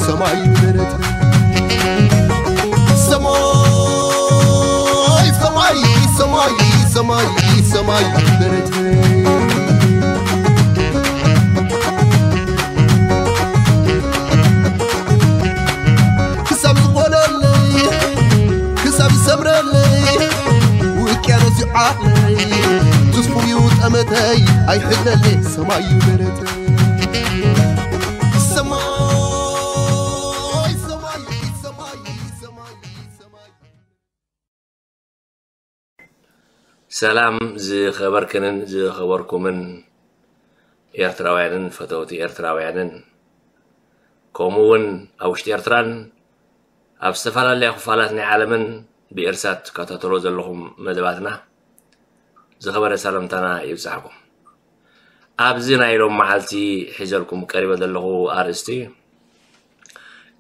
ሰማይ ደረት ሰማይ ሰማይ ሰማይ ሰማይ ደረት ክሳብ ዝኮነለይ ክሳብ ዝሰምረለይ ውቅያኖስ ይዓለይ ትስፉ እዩ ጠመተይ ኣይሕለለይ ሰማይ ደረት ሰማይ ሰማይ ሰማይ ሰማይ ሰማይ ሰላም ዝኸበርክንን ዝኸበርኩምን ኤርትራውያንን ፈተውቲ ኤርትራውያንን ከምኡ እውን ኣብ ውሽጢ ኤርትራን ኣብ ዝተፈላለያ ክፋላት ናይ ዓለምን ብኤርሳት ትከታተሎ ዘለኹም መደባትና ዝኸበረ ሰላምታና ይብጻሕኩም። ኣብዚ ናይ ሎም መዓልቲ ሒዘልኩም ቀሪበ ዘለኹ ኣርእስቲ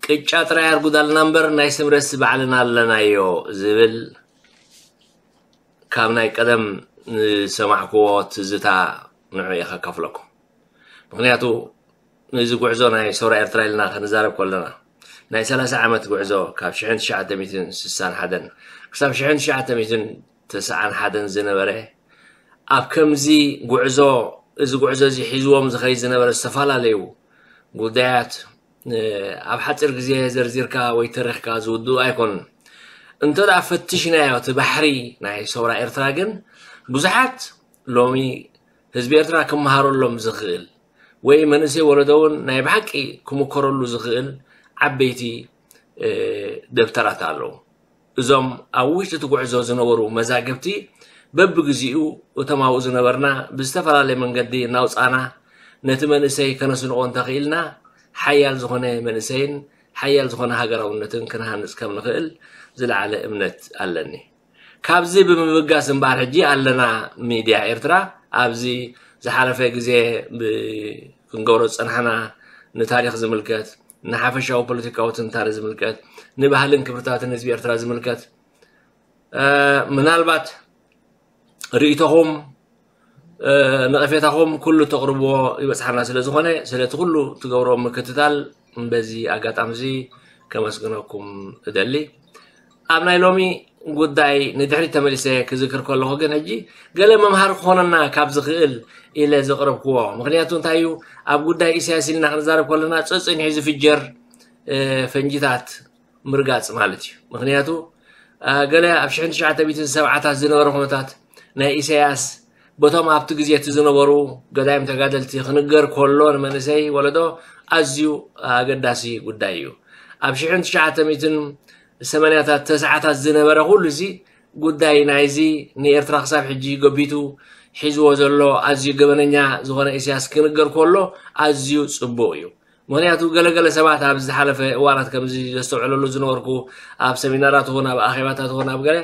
ቅጫ ጥራይ ኣርጉዳልና እምበር ናይ ስምረትሲ ባዕልና ኣለናዮ ዝብል ካብ ናይ ቀደም ዝሰማዕክዎ ትዝታ ንዑ እየ ከካፍለኩም። ምክንያቱ ነዚ ጉዕዞ ናይ ሰውራ ኤርትራ ኢልና ክንዛረብ ከለና ናይ ሰላሳ ዓመት ጉዕዞ ካብ ሽሕን ትሽዓተ ሚእትን ስሳን ሓደን ክሳብ ሽሕን ትሽዓተ ሚእትን ተስዓን ሓደን ዝነበረ ኣብ ከምዚ ጉዕዞ እዚ ጉዕዞ እዚ ሒዝዎም ዝኸይድ ዝነበረ ዝተፈላለዩ ጉዳያት ኣብ ሓፂር ግዜ ዘርዚርካ ወይ ተሪኽካ ዝውድኡ ኣይኮኑን። እንተ ደኣ ፈትሽናዮ እቲ ባሕሪ ናይ ሰውራ ኤርትራ ግን ብዙሓት ሎሚ ህዝቢ ኤርትራ ክመሃረሎም ዝኽእል ወይ መንእሰይ ወለዶ እውን ናይ ብሓቂ ክምከረሉ ዝኽእል ዓበይቲ ደብተራት ኣለዉ። እዞም ኣብ ውሽጢ እቲ ጉዕዞ ዝነበሩ መዛግብቲ በብግዜኡ እቶም ኣብኡ ዝነበርና ብዝተፈላለየ መንገዲ እናውፃእና ነቲ መንእሰይ ከነስንቖ እንተኽኢልና ሓያል ዝኾነ መንእሰይን ሓያል ዝኾነ ሃገራውነትን ክንሃንፅ ከም ንኽእል ዝለዓለ እምነት ኣለኒ። ካብዚ ብምብጋስ እምበኣር ሕጂ ኣለና ሚድያ ኤርትራ ኣብዚ ዝሓለፈ ግዜ ክንገብሮ ዝፀናሕና ንታሪክ ዝምልከት ንሓፈሻዊ ፖለቲካዊ ትንታነ ዝምልከት ንባህልን ክብርታትን ህዝቢ ኤርትራ ዝምልከት ምናልባት ርእይቶኹም ነቐፌታኹም ኩሉ ተቕርብዎ ይበፅሓና ስለ ዝኾነ ስለቲ ኩሉ ትገብሮ ምክትታል በዚ ኣጋጣሚ እዚ ከመስግነኩም እደሊ። ኣብ ናይ ሎሚ ጉዳይ ንድሕሪት ተመሊሰ ክዝክር ከለኹ ግን ሕጂ ገለ መምሃሪ ክኾነና ካብ ዝኽእል ኢለ ዘቕረብክዎ ምክንያቱ እንታይ እዩ ኣብ ጉዳይ ኢሳያስ ኢልና ክንዛረብ ከለና ፀፅኒሑ ዝፍጀር ፈንጂታት ምርጋፅ ማለት እዩ። ምክንያቱ ገለ ኣብ ሽሕን ትሽዓተ ሚእትን ሰብዓታት ዝነበረ ኩነታት ናይ ኢሳያስ በቶም ኣብቲ ግዜ እቲ ዝነበሩ ገዳይም ተጋደልቲ ክንገር ከሎ ንመንእሰይ ወለዶ ኣዝዩ ኣገዳሲ ጉዳይ እዩ። ኣብ ሽሕን ትሽዓተ ሚእትን ሰማንያታት ተስዓታት ዝነበረ ኩሉ እዚ ጉዳይ ናይዚ ንኤርትራ ክሳብ ሕጂ ገቢቱ ሒዝዎ ዘሎ ኣዝዩ ገበነኛ ዝኾነ ኢሳያስ ክንገር ከሎ ኣዝዩ ጽቡቕ እዩ። ምክንያቱ ገለገለ ሰባት ኣብ ዝሓለፈ እዋናት ከምዚ ዘስተውዕለሉ ዝነበርኩ ኣብ ሰሚናራት ኹን ኣብ ኣኼባታት ኹን ኣብ ገለ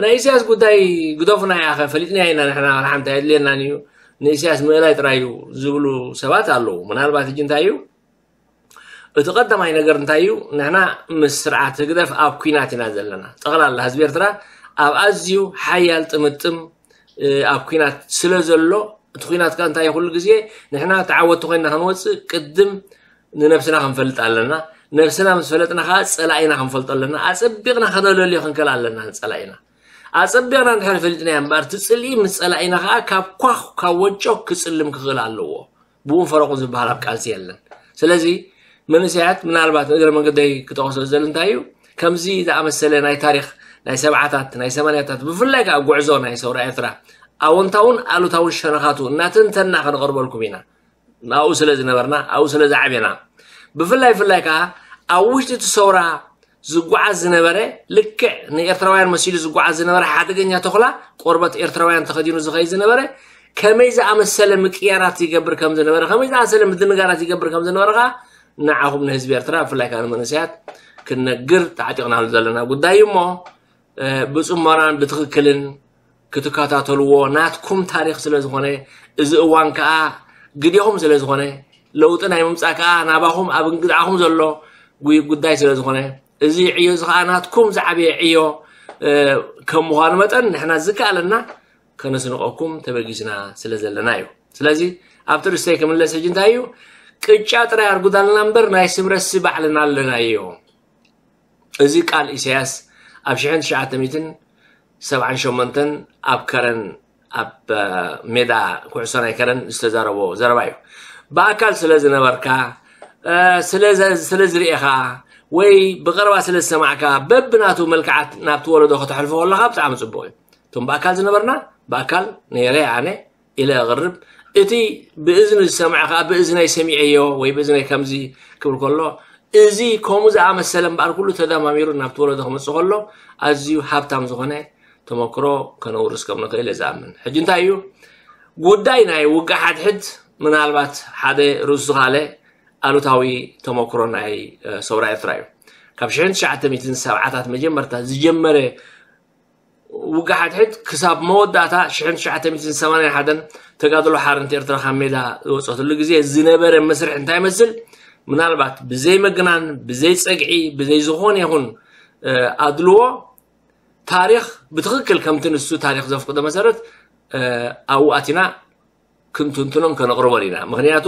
ናይ ኢሳያስ ጉዳይ ግደፉና ያኸ ፈሊጥና ኢና ንሕና ሓንቲ ኣየድልየናን እዩ ንኢሳያስ ምእላይ ጥራይ እዩ ዝብሉ ሰባት ኣለዉ። ምናልባት እጂ እንታይ እዩ እቲ ቀዳማይ ነገር እንታይ እዩ ንሕና ምስ ስርዓት ህግደፍ ኣብ ኩናት ኢና ዘለና። ጠቕላላ ህዝቢ ኤርትራ ኣብ ኣዝዩ ሓያል ጥምጥም ኣብ ኩናት ስለ ዘሎ እቲ ኩናት ከ እንታይ ኩሉ ግዜ ንሕና ተዓወቲ ኮይና ክንወፅእ ቅድም ንነብስና ክንፈልጥ ኣለና። ነብስና ምስ ፈለጥና ከዓ ፀላኢና ክንፈልጦ ኣለና። ኣፀቢቕና ከነለልዮ ክንክእል ኣለና ንፀላኢና። ኣፀቢቕና እንድሕር ፈሊጥናዮ እምበኣር እቲ ፅልኢ ምስ ፀላኢና ከዓ ካብ ኳኽ ካብ ወጮ ክፅልም ክኽእል ኣለዎ። ብኡን ፈረቑ ዝበሃል ኣብ ቃልሲ የለን። ስለዚ መንእሰያት ምናልባት ንእግረ መንገደይ ክጠቕሶ ዝደሊ እንታይ እዩ ከምዚ ዝኣመሰለ ናይ ታሪክ ናይ ሰብዓታት ናይ ሰማንያታት ብፍላይ ከዓ ጉዕዞ ናይ ሰውራ ኤርትራ ኣወንታውን ኣሉታውን ሸነኻቱ እናተንተና ከነቕርበልኩም ኢና። ኣብኡ ስለ ዝነበርና ኣብኡ ስለ ዝዓብና ብፍላይ ፍላይ ከዓ ኣብ ውሽጢ እቲ ሰውራ ዝጓዓዝ ዝነበረ ልክዕ ንኤርትራውያን መሲሉ ዝጓዓዝ ዝነበረ ሓደገኛ ተኹላ ቆርበት ኤርትራውያን ተኸዲኑ ዝኸይድ ዝነበረ ከመይ ዝኣመሰለ ምቅያራት ይገብር ከም ዝነበረ ከመይ ዝኣመሰለ ምድንጋራት ይገብር ከም ዝነበረ ከዓ ንዓኹም ንህዝቢ ኤርትራ ብፍላይ ከዓ ንመንእሰያት ክንነግር ተዓጢቕናሉ ዘለና ጉዳይ እዩ እሞ ብፅሞናን ብትኽክልን ክትከታተልዎ ናትኩም ታሪክ ስለ ዝኾነ እዚ እዋን ከዓ ግዴኹም ስለ ዝኾነ ለውጢ ናይ ምምፃእ ከዓ ናባኹም ኣብ እንግድዓኹም ዘሎ ጉዳይ ስለ ዝኾነ እዚ ዕዮ እዚ ከዓ ናትኩም ዝዓበየ ዕዮ ከም ምዃኑ መጠን ንሕና ዝከኣለና ከነስንቀኩም ተበጊስና ስለ ዘለና እዩ። ስለዚ ኣብቲ ርእስተይ ክምለስ ሕጂ እንታይ እዩ ቅጫ ጥራይ ኣርጉዳልና እምበር ናይ ስምረትሲ ባዕልና ኣለናዮ። እዚ ቃል ኢሳያስ ኣብ ሽሕን ትሽዓተ ሚእትን ሰብዓን ሸሞንተን ኣብ ከረን፣ ኣብ ሜዳ ኩዕሶ ናይ ከረን ዝተዛረቦ ዘረባ እዩ። ብኣካል ስለ ዝነበርካ፣ ስለ ዝርኤኻ ወይ ብቐረባ ስለ ዝሰማዕካ በብናቱ መልክዓት ናብቲ ወለዶ ከተሕልፎ ከለኻ ብጣዕሚ ጽቡቕ እዩ። እቶም ብኣካል ዝነበርና፣ ብኣካል ነይረ ኣነ ኢለ ኣቕርብ። እቲ ብእዝኒ ዝሰምዐ ከኣ ብእዝነይ ሰሚዐዮ ወይ ብእዝነይ ከምዚ ክብል ከሎ፣ እዚ ከምኡ ዝኣመሰለ እምበኣር ኩሉ ተደማሚሩ ናብቲ ወለዶ ክመጽእ ከሎ ኣዝዩ ሃብታም ዝኾነ ተመክሮ ከነውርስ ከም ንኽእል እየ ዝኣምን። ሕጂ እንታይ እዩ ጉዳይ ናይ ውግእ ሓድሕድ? ምናልባት ሓደ ርእሱ ዝኻለ ኣሉታዊ ተመክሮ ናይ ሰውራ ኤርትራ እዩ። ካብ ሽሕን ትሽዓተ ሚእትን ሰብዓታት መጀመርታ ዝጀመረ ውግእ ሓድሕድ ክሳብ መወዳእታ ሽሕን ትሽዓተ ሚእትን ሰማንያን ሓደን ተጋድሎ ሓርነት ኤርትራ ካብ ሜዳ ዝወፀትሉ ግዜ ዝነበረ መስርሕ እንታይ ይመስል? ምናልባት ብዘይ ምግናን፣ ብዘይ ፀግዒ፣ ብዘይ ዝኾነ ይኹን ኣድልዎ ታሪኽ ብትኽክል ከምቲ ንሱ ታሪኽ ዘፍቅዶ መሰረት ኣብኡ ኣቲና ክንትንትኖን ከነቕርቦን ኢና። ምኽንያቱ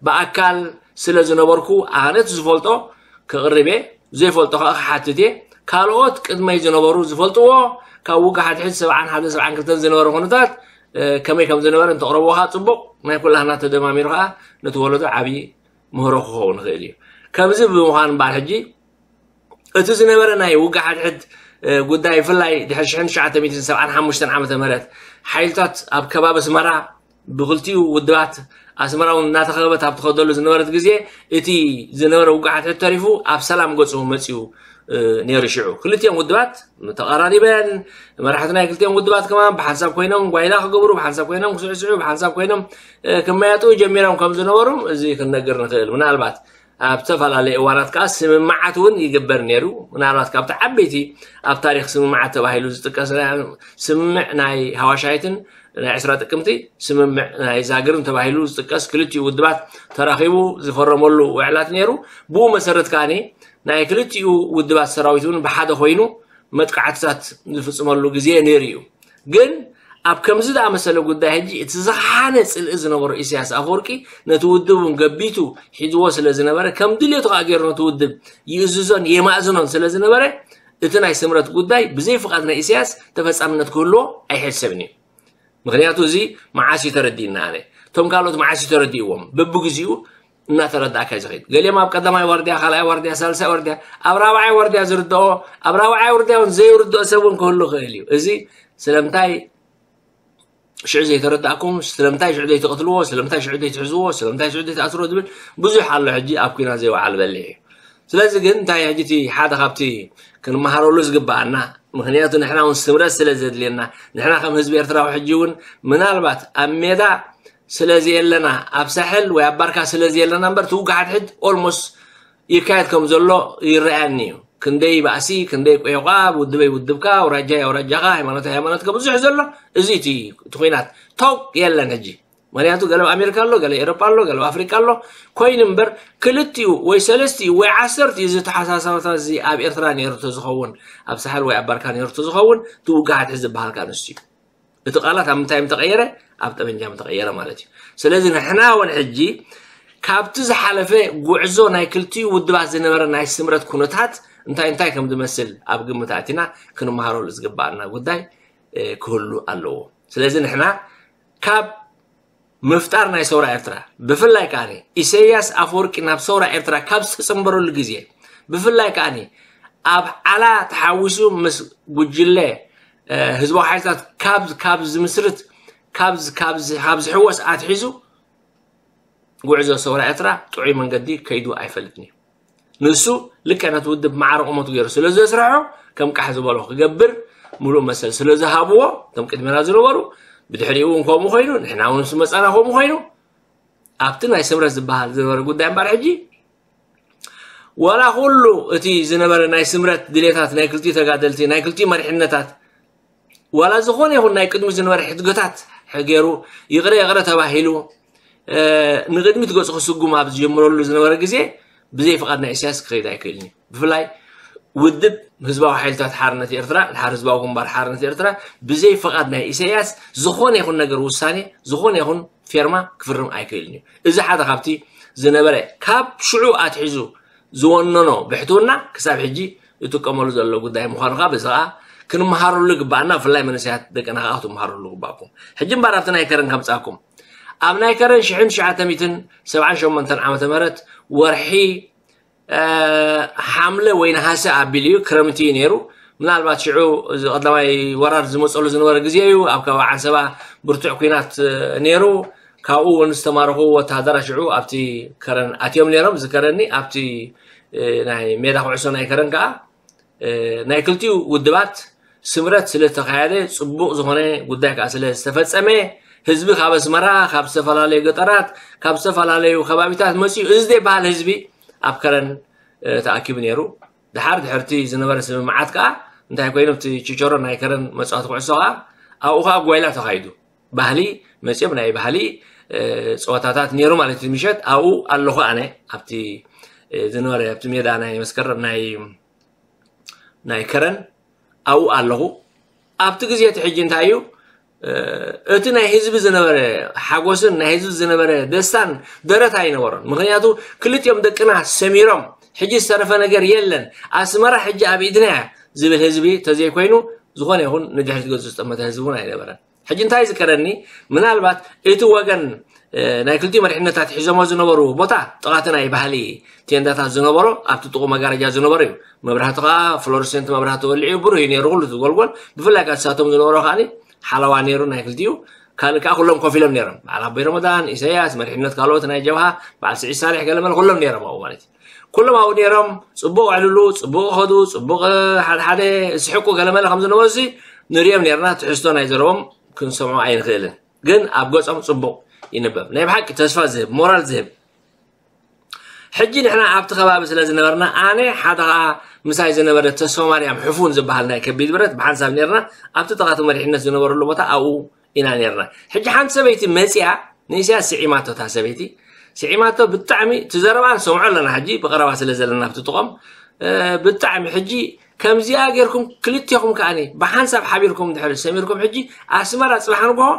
ብኣካል ስለ ዝነበርኩ ኣነ እቲ ዝፈልጦ ከቕርብ እየ፣ ዘይፈልጦ ከኣ ክሓትት እየ። ካልኦት ቅድመይ ዝነበሩ ዝፈልጥዎ ካብ ውግእ ሓድሕድ ሰብዓን ሓደን ሰብዓን ክልተን ዝነበረ ኩነታት ከመይ ከም ዝነበረ እንተቕረብዎ ከኣ ጽቡቕ፣ ናይ ኩላህና ተደማሚሩ ከኣ ነቲ ወለዶ ዓብዪ ምህሮ ክኸውን ይኽእል እዩ። ከምዚ ብምዃን እምበኣር ሕጂ እቲ ዝነበረ ናይ ውግእ ሓድሕድ ጉዳይ ብፍላይ ድሕሪ ሽሕን ትሽዓተ ሚእትን ሰብዓን ሓሙሽተን ዓመተ ምህረት ሓይልታት ኣብ ከባቢ ኣስመራ ብክልቲኡ ውድባት ኣስመራ እውን እናተኸበበት ኣብ ትኸደሉ ዝነበረት ግዜ እቲ ዝነበረ ውግእ ሓድሕድ ተሪፉ ኣብ ሰላም ገጹ መጺኡ ነይሩ። ሽዑ ክልቲኦም ውድባት ተቐራሪበን መራሕቲ ናይ ክልቲኦም ውድባት ከማን ብሓንሳብ ኮይኖም ጓይላ ክገብሩ፣ ብሓንሳብ ኮይኖም ክስዕስዑ፣ ብሓንሳብ ኮይኖም ክመያጡ ጀሚሮም ከም ዝነበሩ እዚ ክንነግር ንኽእል። ምናልባት ኣብ ዝተፈላለዩ እዋናት ከዓ ስምምዓት እውን ይግበር ነይሩ። ምናልባት ካብቲ ዓበይቲ ኣብ ታሪክ ስምምዓት ተባሂሉ ዝጥቀስ ስምምዕ ናይ ሃዋሻይትን ናይ ዕስራ ጥቅምቲ ስምምዕ ናይ ዛግርም ተባሂሉ ዝጥቀስ ክልቲኡ ውድባት ተራኺቡ ዝፈረመሉ ውዕላት ነይሩ። ብኡ መሰረት ከዓኒ ናይ ክልቲኡ ውድባት ሰራዊት እውን ብሓደ ኮይኑ መጥቃዕትታት ዝፍፅመሉ ግዜ ነይሩ እዩ። ግን ኣብ ከምዚ ዝኣመሰለ ጉዳይ ሕጂ እቲ ዝኸሓነ ጽልኢ ዝነበሮ ኢሳያስ ኣፈወርቂ ነቲ ውድብ እውን ገቢቱ ሒዝዎ ስለ ዝነበረ ከም ድልየቱ ከዓ ገይሩ ነቲ ውድብ ይእዝዞን የማእዝኖን ስለ ዝነበረ እቲ ናይ ስምረት ጉዳይ ብዘይ ፍቓድ ናይ ኢሳያስ ተፈጻምነት ክህልዎ ኣይሕሰብን እዩ። ምክንያቱ እዚ መዓስ እዩ ተረዲእና ኣነ እቶም ካልኦት መዓስ እዩ ተረዲእዎም በብግዚኡ እናተረዳእካ እዩ ዝኸይድ። ገሊኦም ኣብ ቀዳማይ ዋርድያ፣ ካልኣይ ዋርድያ፣ ሳልሳይ ዋርድያ፣ ኣብ ራብዓይ ዋርድያ ዝርድኦ፣ ኣብ ራብዓይ ዋርድያ እውን ዘይርድኦ ሰብ እውን ክህሉ ይኽእል እዩ። እዚ ስለምንታይ ሽዑ ዘይተረዳእኩም፣ ስለምንታይ ሽዑ ዘይትቐትልዎ፣ ስለምንታይ ሽዑ ዘይትሕዝዎ፣ ስለምንታይ ሽዑ ዘይትኣስሮ ዝብል ብዙሕ ኣሎ። ሕጂ ኣብ ኲናት ዘይወዓለ በሊሕ እዩ። ስለዚ ግን እንታይ ሕጂ እቲ ሓደ ካብቲ ክንመሃረሉ ዝግበኣና ምክንያቱ ንሕና እውን ስምረት ስለ ዘድልየና ንሕና ከም ህዝቢ ኤርትራዊ ሕጂ እውን ምናልባት ኣብ ሜዳ ስለ ዘየለና ኣብ ሳሕል ወይ ኣብ ባርካ ስለ ዘየለና እምበር እቲ ውግእ ሓድሕድ ኦልሞስት ይካየድ ከም ዘሎ ይረኣየኒ እዩ። ክንደይ ባእሲ ክንደይ ቆይቋ ውድበይ ውድብካ ኣውራጃይ ኣውራጃኻ ሃይማኖት ሃይማኖትካ ብዙሕ ዘሎ እዚ እቲ እቲ ኩናት ተው የለን ሕጂ ምክንያቱ ገለ ኣብ ኣሜሪካ ኣሎ ገለ ኤሮጳ ኣሎ ገለ ኣብ ኣፍሪቃ ኣሎ ኮይኑ እምበር ክልቲኡ ወይ ሰለስቲኡ ወይ ዓሰርቲኡ እዚ ተሓሳሳብታ እዚ ኣብ ኤርትራ ነይሩ ተዝኸውን ኣብ ሳሕል ወይ ኣብ ባርካ ነይሩ ተዝኸውን እቲ ውግእ ሓድሕድ ዝበሃል ከኣ ንሱ እዩ። እቲ ቃላት ኣብ ምንታይ ምተቐየረ ኣብ ጠበንጃ ምተቐየረ ማለት እዩ። ስለዚ ንሕና እውን ሕጂ ካብቲ ዝሓለፈ ጉዕዞ ናይ ክልቲኡ ውድባት ዝነበረ ናይ ስምረት ኩነታት እንታይ እንታይ ከም ዝመስል ኣብ ግምት ኣእቲና ክንመሃረሉ ዝግበኣና ጉዳይ ክህሉ ኣለዎ። ስለዚ ንሕና ካብ ምፍጣር ናይ ሰውራ ኤርትራ ብፍላይ ከኣ ኢሰያስ ኣፈወርቂ ናብ ሰውራ ኤርትራ ካብ ዝተጸንበረሉ ግዜ ብፍላይ ከኣ ኣብ ዓላ ተሓዊሱ ምስ ጉጅለ ህዝባዊ ሓይልታት ካብ ካብ ዝምስርት ካብ ካብ ካብ ዝሕወስ ኣትሒዙ ጉዕዞ ሰውራ ኤርትራ ጥዑይ መንገዲ ከይዱ ኣይፈልጥን እዩ። ንሱ ልክዕ ነቲ ውድብ ማዕረ ቁመቱ ገይሩ ስለ ዘስርሖ ከም ቃሕ ዝበሎ ክገብር ምሉእ መሰል ስለ ዝሃብዎ እቶም ቅድሜና ዝነበሩ ብድሕሪኡ እውን ከምኡ ኮይኑ ንሕና እውን ምስ መጻና ከምኡ ኮይኑ ኣብቲ ናይ ስምረት ዝበሃል ዝነበረ ጉዳይ እምበኣር ሕጂ ዋላ ኩሉ እቲ ዝነበረ ናይ ስምረት ድሌታት ናይ ክልቲኡ ተጋደልቲ ናይ ክልቲኡ መሪሕነታት ዋላ ዝኾነ ይኹን ናይ ቅድሚ ዝነበረ ሕድገታት ገይሩ ይቕረ ይቕረ ተባሂሉ ንቅድሚት ገፁ ክስጉም ኣብ ዝጀምረሉ ዝነበረ ግዜ ብዘይ ፍቓድ ናይ ኢሳያስ ክኸይድ ኣይክእልን እዩ። ብፍላይ ውድብ ህዝባዊ ሓይልታት ሓርነት ኤርትራ ድሓር ህዝባዊ ግንባር ሓርነት ኤርትራ ብዘይ ፍቓድ ናይ ኢሳያስ ዝኾነ ይኹን ነገር ውሳኔ ዝኾነ ይኹን ፌርማ ክፍርም ኣይክእልን እዩ። እዚ ሓደ ካብቲ ዝነበረ፣ ካብ ሽዑ ኣትሒዙ ዝወነኖ ብሕትውና ክሳብ ሕጂ ዝጥቀመሉ ዘሎ ጉዳይ ምዃኑ ከዓ በዚ ከዓ ክንመሃረሉ ይግባኣና። ብፍላይ መንእሰያት ደቅና ከዓ ክትመሃረሉ ይግባእኩም። ሕጂ እምበኣር ኣብቲ ናይ ከረን ከምፃኩም። ኣብ ናይ ከረን ሽሕን ትሽዓተ ሚእትን ሰብዓን ሸሞንተን ዓመተ ምህረት ወርሒ ሓምለ ወይ ነሃሰ ኣቢሉ እዩ፣ ክረምቲ እዩ ነይሩ። ምናልባት ሽዑ እዚ ቀዳማይ ወራር ዝመፀሉ ዝነበረ ግዜ እዩ። ኣብ ከባቢ ዓንሰባ ብርቱዕ ኩናት ነይሩ። ካብኡ እውን ዝተማረኹ ወተሃደራት ሽዑ ኣብቲ ከረን ኣትዮም ነይሮም። ዝከረኒ ኣብቲ ናይ ሜዳ ኩዕሶ ናይ ከረን ከዓ ናይ ክልቲኡ ውድባት ስምረት ስለ ዝተኻየደ፣ ፅቡቕ ዝኾነ ጉዳይ ከዓ ስለ ዝተፈፀመ፣ ህዝቢ ካብ ኣስመራ፣ ካብ ዝተፈላለዩ ገጠራት፣ ካብ ዝተፈላለዩ ከባቢታት መፂኡ፣ እዚ ዘይበሃል ህዝቢ ኣብ ከረን ተኣኪቡ ነይሩ። ድሓር ድሕርቲ ዝነበረ ስምምዓት ከዓ እንታይ ኮይኑ፣ እቲ ችቸሮ ናይ ከረን መፃወቲ ኩዕሶ ከዓ ኣብኡ ከዓ ጓይላ ተኻይዱ። ባህሊ መፅኦም ናይ ባህሊ ፀወታታት ነይሩ ማለት እዩ። ምሸት ኣብኡ ኣለኹ ኣነ፣ ኣብቲ ዝነበረ ኣብቲ ሜዳ ናይ መስከረም ናይ ናይ ከረን ኣብኡ ኣለኹ። ኣብቲ ግዜ እቲ ሕጂ እንታይ እዩ፣ እቲ ናይ ህዝቢ ዝነበረ ሓጎስን ናይ ህዝቢ ዝነበረ ደስታን ደረት ኣይነበሮን። ምክንያቱ ክልቲኦም ደቅና ሰሚሮም፣ ሕጂ ዝተረፈ ነገር የለን፣ ኣስመራ ሕጂ ኣብ ኢድና እያ ዝብል ህዝቢ ተዘይኮይኑ፣ ዝኾነ ይኹን ንድሕሪት ገጹ ዝጠመተ ህዝቢ እውን ኣይነበረን። ሕጂ እንታይ ዝከረኒ፣ ምናልባት እቲ ወገን ናይ ክልቲኡ መሪሕነታት ሒዞሞ ዝነበሩ ቦታ ጥቓቲ ናይ ባህሊ ቴንዳታት ዝነበሮ፣ ኣብቲ ጥቑ መጋረጃ ዝነበሩ እዩ። መብራህቲ ከዓ ፍሎረሰንት መብራህቲ ወሊዑ ብሩህ እዩ ነይሩ ኩሉ እቲ ጎልጎል። ብፍላይ ከዓ እሳቶም ዝነበሮ ከዓ ሓለዋ ነይሩ ናይ ክልቲኡ። ካልእ ከዓ ኩሎም ኮፍ ኢሎም ነይሮም። በዓል ኣቦይ ረመዳን፣ ኢሳያስ፣ መሪሕነት ካልኦት ናይ ጀብሃ፣ በዓል ስዒድ ሳልሕ ገለመለ ኩሎም ነይሮም ኣብኡ ማለት እዩ። ኩሎም ኣብኡ ነይሮም፣ ጽቡቕ ዕልሉ፣ ጽቡቕ ኸዱ፣ ጽቡቕ ሓደ ሓደ ዝስሕቁ ገለመለ ከም ዝነበሩ ንሪኦም ነይርና። ትሕዝቶ ናይ ዘረቦም ክንሰምዖ ኣይንኽእልን፣ ግን ኣብ ገጾም ጽቡቕ ይንበብ። ናይ ብሓቂ ተስፋ ዝህብ፣ ሞራል ዝህብ። ሕጂ ንሕና ኣብቲ ከባቢ ስለ ዝነበርና፣ ኣነ ሓደ ኸዓ ምሳይ ዝነበረ ተስፋ ማርያም ሕፉን ዝበሃል ናይ ከቢድ ብረት ብሓንሳብ ነይርና። ኣብቲ ጥቓቲ መሪሕነት ዝነበረሉ ቦታ ኣብኡ ኢና ነይርና። ሕጂ ሓንቲ ሰበይቲ መፂኣ ንኢሳያስ ስዒማቶ፣ እታ ሰበይቲ ስዒማቶ። ብጣዕሚ እቲ ዘረባ ንሰምዖ ኣለና ሕጂ ብቐረባ ስለ ዘለና ኣብቲ ጥቖም። ብጣዕሚ ሕጂ ከምዚኣ ጌርኩም ክልቴኹም ከዓኒ ብሓንሳብ ሓቢርኩም ድሕሪ ሰሚርኩም፣ ሕጂ ኣስመራ ጽባሕ ንግሆ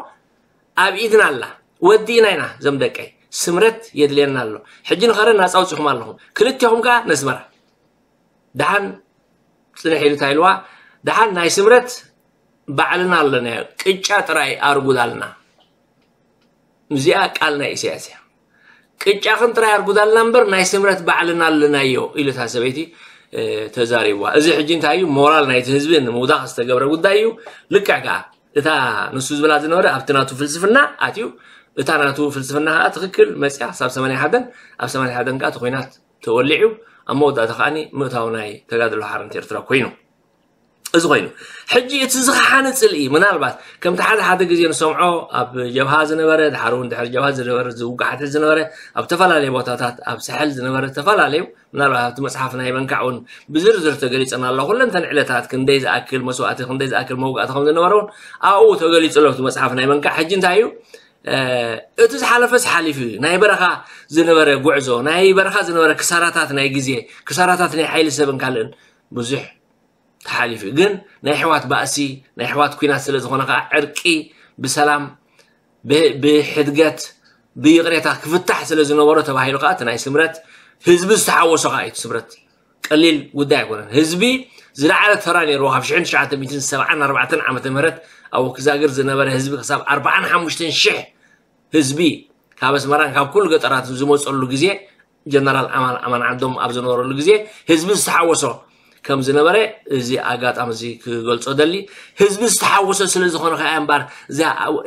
ኣብ ኢድና ኣላ። ወዲእና ኢና እዞም ደቀይ። ስምረት የድልየና ኣሎ። ሕጂ ንኸረን ናጻ ኣውጺኹም ኣለኹም። ክልቴኹም ከኣ ነስመራ። ደሓን ጽንሕ ኢሉ እንታይ ኢልዋ? ደሓን ናይ ስምረት ባዕልና ኣለናዮ። ቅጫ ጥራይ ኣርጉዳልና። እዚኣ ቃል ናይ ኢሳያስ እያ። ቅጫኽን ጥራይ ኣርጉዳልና እምበር ናይ ስምረት ባዕልና ኣለናዮ ኢሉ እታ ሰበይቲ ተዛሪብዋ። እዚ ሕጂ እንታይ እዩ? ሞራል ናይቲ ህዝቢ ንምውዳቕ ዝተገብረ ጉዳይ እዩ። ልክዕ ከኣ እታ ንሱ ዝብላ ዝነበረ ኣብቲ ናቱ ፍልስፍና ኣትዩ፣ እታ ናቱ ፍልስፍና ከኣ ትኽክል መጽያ ክሳብ ሰማንያ ሓደን፣ ኣብ ሰማንያ ሓደን ከኣ እቲ ኲናት ተወሊዑ፣ ኣብ መወዳእታ ከኣ ምእታው ናይ ተጋድሎ ሓርነት ኤርትራ ኮይኑ። እዚ ኮይኑ ሕጂ እቲ ዝኸሓነ ጽልኢ ምናልባት ከምቲ ሓደ ሓደ ግዜ ንሰምዖ ኣብ ጀብሃ ዝነበረ፣ ድሓር እውን ድሕሪ ጀብሃ ዝነበረ ዝውጋሓት ዝነበረ ኣብ ተፈላለየ ቦታታት ኣብ ሳሕል ዝነበረ ዝተፈላለዩ ምናልባት ኣብቲ መጽሓፍ ናይ መንካዕ እውን ብዝርዝር ተገሊጸን ኣሎ። ኩለንተን ዕለታት ክንደይ ዝኣክል መስዋእቲ ክንደይ ዝኣክል መውጋእቲ ከም ዝነበረ እውን ኣብኡ ተገሊጹ ኣሎ ኣብቲ መጽሓፍ ናይ መንካዕ። ሕጂ እንታይ እዩ እቲ ዝሓለፈስ ሓሊፉ እዩ። ናይ በረኻ ዝነበረ ጉዕዞ ናይ በረኻ ዝነበረ ክሳራታት ናይ ግዜ ክሳራታት ናይ ሓይሊ ሰብን ካልእን ብዙሕ ተሓሊፉ እዩ። ግን ናይ ኣሕዋት ባእሲ ናይ ኣሕዋት ኲናት ስለ ዝኾነ ከዓ ዕርቂ ብሰላም ብሕድገት ብይቕሬታ ክፍታሕ ስለ ዝነበሮ ተባሂሉ ከዓ እቲ ናይ ስምረት ህዝቢ ዝተሓወሶ ከዓ እዩ። ስምረት ቀሊል ጉዳይ ኣይኮነን። ህዝቢ ዝለዓለ ተራ ነይርዎ። ካብ ሽሕን ትሽዓተ ሚእትን ሰብዓን ኣርባዕተን ዓመተ ምህረት ኣብ ወክዛግር ዝነበረ ህዝቢ ክሳብ ኣርባዓን ሓሙሽተን ሽሕ ህዝቢ ካብ ኣስመራን ካብ ኩሉ ገጠራትን ዝመፀሉ ግዜ ጀነራል ኣማን ኣማን ዓንዶም ኣብ ዝነበረሉ ግዜ ህዝቢ ዝተሓወሶ ከም ዝነበረ እዚ ኣጋጣሚ እዚ ክገልጾ ደሊ። ህዝቢ ዝተሓወሶ ስለ ዝኾነ ከኣ እምበር እዛ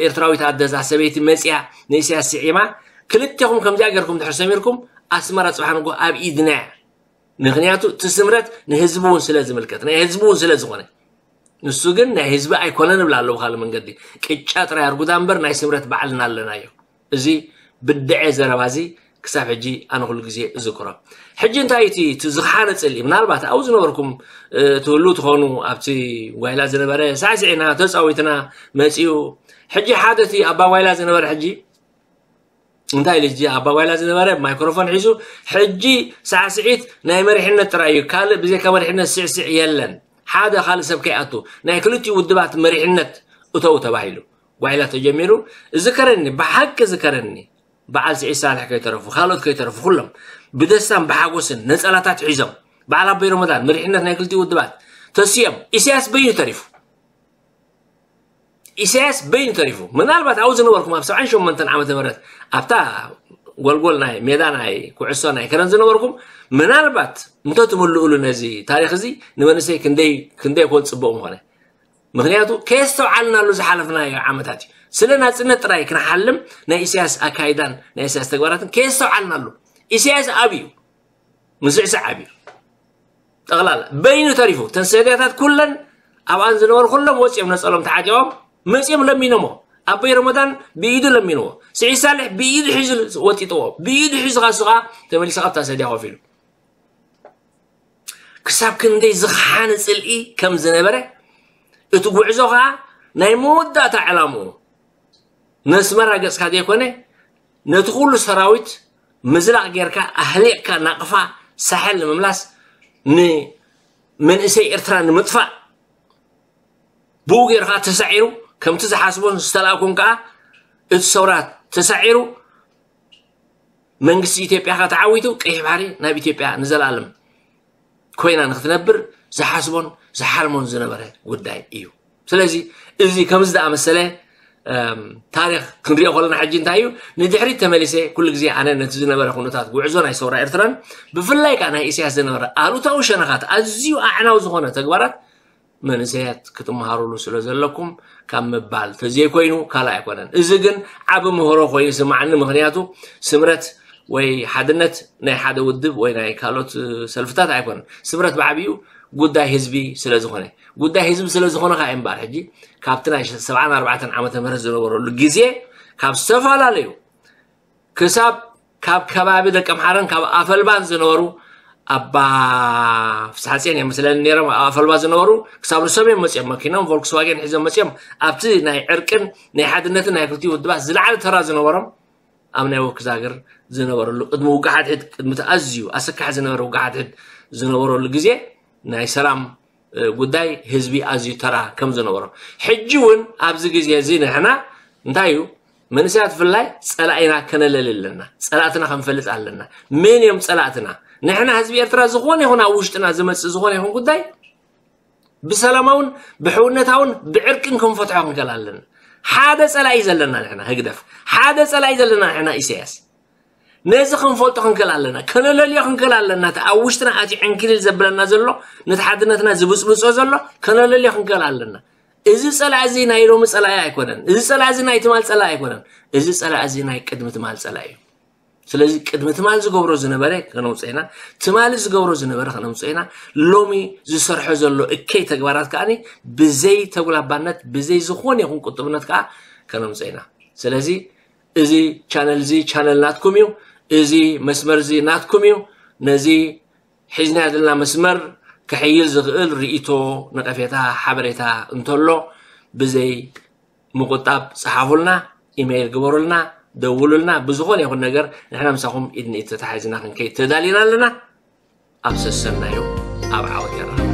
ኤርትራዊት ኣደ እዛ ሰበይቲ መጽያ ንኢሳያስ ስዒማ ክልቴኹም ከምዚኣ ጌርኩም ድሕር ሰሚርኩም ኣስመራ ጽባሕ ንጎ ኣብ ኢድና እያ። ምክንያቱ እቲ ስምረት ንህዝቢ እውን ስለ ዝምልከት ናይ ህዝቢ እውን ስለ ዝኾነ ንሱ ግን ናይ ህዝቢ ኣይኮነን እብላ ኣለዎ ካልእ መንገዲ ቅጫ ጥራይ ኣርጉዳ እምበር ናይ ስምረት ባዕልና ኣለናዮ። እዚ ብድዐ ዘረባ እዚ ክሳብ ሕጂ ኣነ ኩሉ ግዜ እዝክሮ። ሕጂ እንታይ እቲ እቲ ዝኸሓነ ጽልኢ ምናልባት ኣብኡ ዝነበርኩም ትህሉ ትኾኑ ኣብቲ ጓይላ ዝነበረ ሳዕስዒና ተጻዊትና መጺኡ ሕጂ ሓደ እቲ ኣባ ጓይላ ዝነበረ ሕጂ እንታይ ኢሉ ሕጂ ኣባ ጓይላ ዝነበረ ማይክሮፎን ሒዙ ሕጂ ሳዕስዒት ናይ መሪሕነት ጥራይ እዩ ካልእ ብዘይካ መሪሕነት ስዕስዕ የለን ሓደ ካልእ ሰብ ከይኣቱ ናይ ክልቲኡ ውድባት መሪሕነት እተው ተባሂሉ ጓይላ ተጀሚሩ ዝከረኒ ብሓቂ ዝከረኒ በዓል ስዒድ ሳልሕ ከይተረፉ፣ ካልኦት ከይተረፉ፣ ኩሎም ብደስታን ብሓጎስን ነጸላታት ሒዞም፣ በዓል ኣቦይ ረመዳን፣ መሪሕነት ናይ ክልቲኡ ውድባት ተሲኦም፣ ኢሳያስ በይኑ ተሪፉ። ኢሳያስ በይኑ ተሪፉ። ምናልባት ኣብኡ ዝነበርኩም፣ ኣብ ሰብዓን ሸሞንተን ዓመተ ምህረት ኣብታ ጎልጎል ናይ ሜዳ ናይ ኩዕሶ ናይ ከረን ዝነበርኩም፣ ምናልባት እንተትምልእሉ ነዚ ታሪኽ እዚ፣ ንመንእሰይ ክንደይ ክንደይ ኮን ጽቡቕ ምኾነ። ምኽንያቱ ከየስተውዓልናሉ ዝሓለፍናዮ ዓመታት እዩ። ስለ ናጽነት ጥራይ ክንሓልም ናይ ኢሳያስ ኣካይዳን ናይ ኢሳያስ ተግባራትን ከየስተውዓልናሉ፣ ኢሳያስ ኣብዩ ምስዕሳዕ ኣብዩ። ጠቕላላ በይኑ ተሪፉ። እተን ሰድያታት ኩለን ኣብኣን ዝነበሩ ኩሎም ወፂኦም ነፀሎም ተዓጢቖም መፂኦም ለሚኖሞ። ኣቦይ ረመዳን ብኢዱ ለሚንዎ። ስዒድ ሳልሕ ብኢዱ ሒዙ ወጢጥዎ። ብኢዱ ሒዙ ካሱ ከዓ ተመሊሱ ካብታ ሰድያ ኮፍ ኢሉ ክሳብ ክንደይ ዝኸሓነ ጽልኢ ከም ዝነበረ፣ እቲ ጉዕዞ ኸኣ ናይ መወዳእታ ዕላምኡ ነስመራ ገጽካ ዘይኮነ፣ ነቲ ኩሉ ሰራዊት ምዝላቕ ጌርካ ኣህሊቕካ ናቕፋ ሳሕል ንምምላስ፣ ንመንእሰይ ኤርትራ ንምጥፋእ፣ ብኡ ጌሩ ኸኣ ተሳዒሩ፣ ከምቲ ዝሓስቦን ዝተላእኮን ከኣ እቲ ሰውራ ተሳዒሩ፣ መንግስቲ ኢትዮጵያ ኸኣ ተዓዊቱ፣ ቀይሕ ባሕሪ ናብ ኢትዮጵያ ንዘለኣለም ኮይና ንክትነብር ዝሓስቦን ዝሓልሞን ዝነበረ ጉዳይ እዩ። ስለዚ እዚ ከምዚ ዝኣመሰለ፣ እም፣ ታሪኽ ክንሪኦ ከለና ሕጂ እንታይ እዩ? ንድሕሪት ተመሊሰ ኩሉ ግዜ ኣነ ነቲ ዝነበረ ኩነታት ጉዕዞ ናይ ሰውራ ኤርትራን ብፍላይ ከኣ ናይ ኢሳያስ ዝነበረ ኣሉታዊ ሸነኻት ኣዝዩ ኣዕናዊ ዝኾነ ተግባራት መንእሰያት ክትመሃሩሉ ስለ ዘለኩም ካብ ምባል ተዘይኮይኑ ካልእ ኣይኮነን። እዚ ግን ዓቢ ምህሮ ኮይኑ ይስማዓኒ። ምኽንያቱ ስምረት ወይ ሓድነት ናይ ሓደ ውድብ ወይ ናይ ካልኦት ሰልፍታት ኣይኮነን። ስምረት ብዓቢኡ ጉዳይ ህዝቢ ስለ ዝኾነ፣ ጉዳይ ህዝቢ ስለ ዝኾነ ከኣ እምበኣር ሕጂ ካብቲ ናይ ሰብዓን ኣርባዕተን ዓመተ ምህረት ዝነበረሉ ግዜ ካብ ዝተፈላለዩ ክሳብ ካብ ከባቢ ደቀምሓረን ካብ ኣፈልባን ዝነበሩ ኣባ ፍስሓጽዮን እዮም መስለኒ ነይሮም። ኣብ ኣፈልባ ዝነበሩ ክሳብ ንሶም እዮም መጺኦም፣ መኪኖም ቮልክስዋገን ሒዞም መጺኦም። ኣብቲ ናይ ዕርቅን ናይ ሓድነትን ናይ ክልቲኡ ውድባት ዝለዓለ ተራ ዝነበሮም ኣብ ናይ ወክዛግር ዝነበረሉ ቅድሚ ውግእ ሓድሕድ፣ ቅድሚ እቲ ኣዝዩ ኣሰካሒ ዝነበረ ውግእ ሓድሕድ ዝነበረሉ ግዜ ናይ ሰላም እ፣ ጉዳይ ህዝቢ ኣዝዩ ተራ ከም ዝነበሮ። ሕጂ እውን ኣብዚ ግዜ እዚ ንሕና እንታይ እዩ? መንእሰያት ብፍላይ ጸላኢና ከነለሊ ኣለና። ጸላእትና ክንፈልጥ ኣለና። መን እዮም ጸላእትና? ንሕና ህዝቢ ኤርትራ ዝኾነ ይኹን ኣብ ውሽጥና ዝመጽእ ዝኾነ ይኹን ጉዳይ ብሰላማውን ብሕውነታውን ብዕርቅን ክንፈትሖ ክንክእል ኣለና። ሓደ ጸላኢ ዘለና ንሕና ህግደፍ። ሓደ ጸላኢ ዘለና ንሕና ኢሳያስ። ነዚ ክንፈልጦ ክንክእል ኣለና። ከነለልዮ ክንክእል ኣለና። እቲ ኣብ ውሽጥና ኣትዩ ዕንክሊል ዘብለና ዘሎ፣ ነቲ ሓድነትና ዝብጽብጾ ዘሎ ከነለልዮ ክንክእል ኣለና። እዚ ጸላኢ እዚ ናይ ሎሚ ጸላኢ ኣይኮነን። እዚ ጸላኢ እዚ ናይ ትማል ጸላኢ ኣይኮነን። እዚ ጸላኢ እዚ ናይ ቅድሚ ትማል ጸላኢ እዩ። ስለዚ ቅድሚ ትማል ዝገብሮ ዝነበረ ከነውጽኦ ኢና። ትማሊ ዝገብሮ ዝነበረ ከነውጽኦ ኢና። ሎሚ ዝሰርሖ ዘሎ እከይ ተግባራት ከኣ ብዘይ ተጉላባነት፣ ብዘይ ዝኾነ ይኹን ቁጥብነት ከኣ ከነውጽኦ ኢና። ስለዚ እዚ ቻነል እዚ ቻነል ናትኩም እዩ። እዚ መስመር እዚ ናትኩም እዩ። ነዚ ሒዝናዮ ዘለና መስመር ክሕይል ዝኽእል ርእይቶ፣ ነቐፌታ፣ ሓበሬታ እንተሎ ብዘይ ምቁጣብ ጸሓፉልና፣ ኢሜይል ግበሩልና፣ ደውሉልና። ብዝኾነ ይኹን ነገር ንሕና ምሳኹም ኢድ ንኢድ ተታሒዝና ክንከይድ ተዳሊና ኣለና። ኣብ ሰሰናዩ ኣብ ዓወት የራኽበና።